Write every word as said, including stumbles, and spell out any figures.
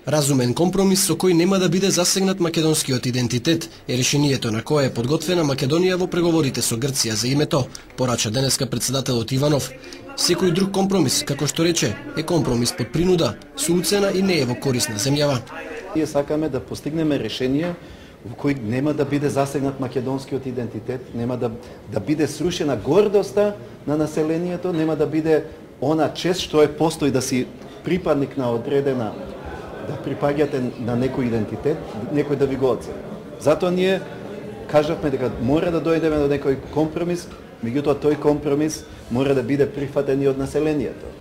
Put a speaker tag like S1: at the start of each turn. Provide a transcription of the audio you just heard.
S1: Разумен компромис со кој нема да биде засегнат македонскиот идентитет е решението на кое е подготвена Македонија во преговорите со Грција за името, порача денеска председателот Иванов. Секој друг компромис, како што рече, е компромис под принуда, со уцена и не е во корис на земјава.
S2: Ние сакаме да постигнеме решение во кој нема да биде засегнат македонскиот идентитет, нема да, да биде срушена гордоста на населението, нема да биде она чест што е постои да си припадник на одредена, да припаѓате на некој идентитет, некој да ви го оцени. Затоа ние кажавме дека мора да дојдеме до некој компромис, меѓутоа тој компромис мора да биде прифатен и од населението.